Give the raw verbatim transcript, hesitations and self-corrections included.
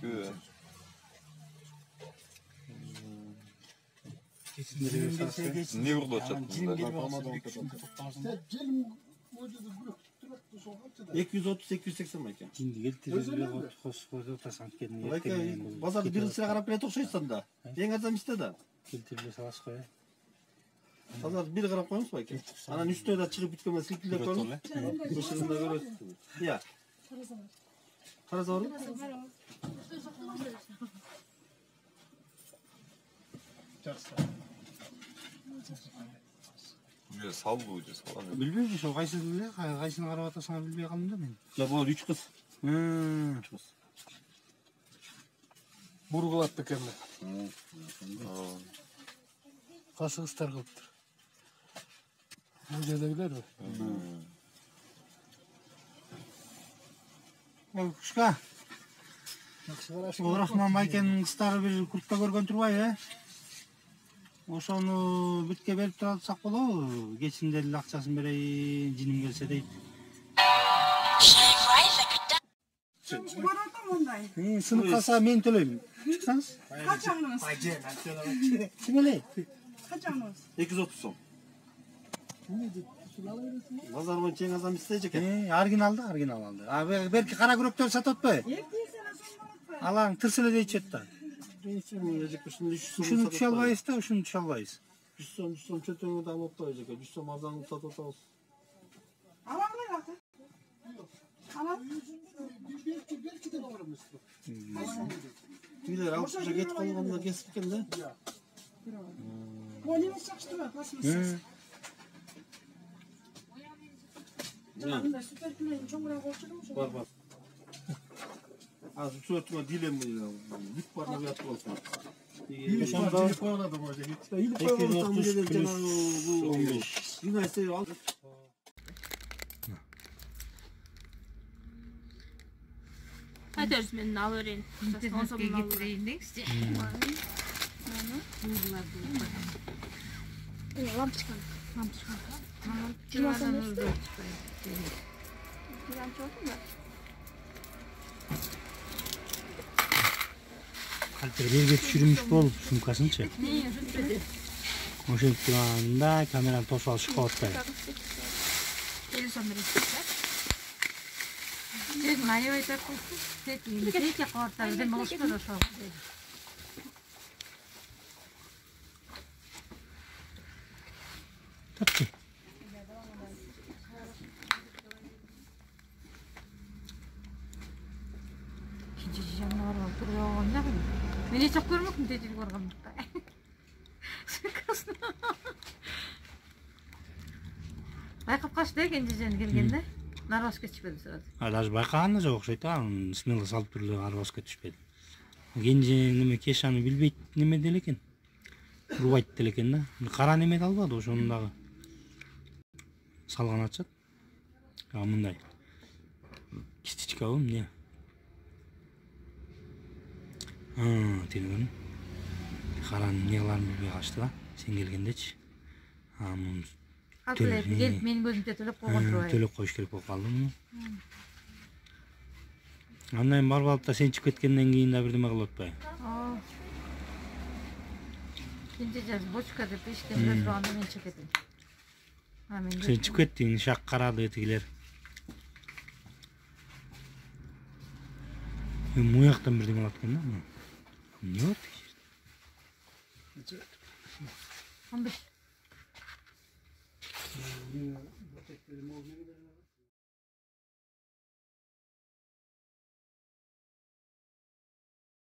экөө. Не урлап жатсың? эки жүз отуз эки жүз сексен байке. Базарды бир сыра карап келет окшойсуң да. Эң арзан эместе да. Келтирип саласыз го. Базарды бир карап коюңуз байке. Анан үстүнө да чыгып бүткөн силкилеп коюңуз. Ушугунда көрөсүз. Ия. Караса бар. Уже салдуу же салам. Билбейм, ошо кайсысын эле, кайсыны карап атасыңар билбей калдым да мен. Жок, бул үч кыз. Үч кыз. Бургулат экен. Кайсы кыздар кылыптыр? Бул жердегилерби? Ой, кушка. Рахман байкенин кыздары бир куртта көргөн турбайбы, э? Ошону бүткө берип тура алсак болобу? Кечинде эле акчасын берейин, жиним келсе дейт. Сынып калса мен төлөйм. Чыксаңыз? Качаңыз? Ким эле? Качаңыз? эки жүз отуз сом. Базар боюнча эң арзан эмес экен. Оригинал да, оригинал алды. А берки кара күрөктөр сатып атпайбы? Алаң тырс эле дейчү да. Ушуну түшө албайбыз да, ушуну түшө албайбыз. жүз сом, жүз сом чөтөңү да алып атпайбыз экен. жүз сом арзан кылып сатып атабыз. Алаңдар аты. Алаң. Белки да бар эмес. Билер алып уже кетип калганда кесип экен да. Бул эмес жакшы турат, пластмасса. Мындай супер-клейн чоңураак болчу ошо. Бар, бар. Азыр чөтүмө дилем бүт барына уят болсун. Ошондо илип коюлат может. Илип коюлган жерден жанагы он беш. Юнайсы ал. Айтарсыз мен алып берейин. он сомдон алып берейин деңизчи. Э, лампочка. Лампочка. жыйырма сом эмес да? Калтыр жерге түшүрүмүш болуп сумкасынчы. Ошентип турганда камераны тосуп алып чыгып атпайбы. элүү сом бересиз. Тек аябай тартып, тек тек картабыз, эми болушпайт ошо. Тапты. Кинчи жанына барып туруп алганда мен эч көрмөкмүн тежил баргандыкта. Байкап калышты кинчи жан келгенде. Нарбаске түшпөдү сразу. А даже байкаган да жок окшойт, анын смело салып туруп арбаска түшпөдү. Кенже неме кешаны билбейт неме деле экен. Урбайт деле экен да. Кара неме да албады, ошону дагы салган атышат. А мындай кистичкабы эмне? А, тилгин. Каранын негаларын билбей калышты да, сен келгендечи. А, муну Атылып келип менин көзүмчө төлөп койгон турбайбы? Төлөп коюш керек болуп калды муну. Андан кийин барып алып да сен чыгып кеткенден кийин да бирдеме кылып атпайбы? Ооба. Кинчи жаз бочка деп эшиктен кире турганда мен чыгып кеттим. А мен Сен чыгып кеттиң, шак карады тигилер. Муяктан бирдеме алат экен да. Эмне бар тиги жерде? он беш. М,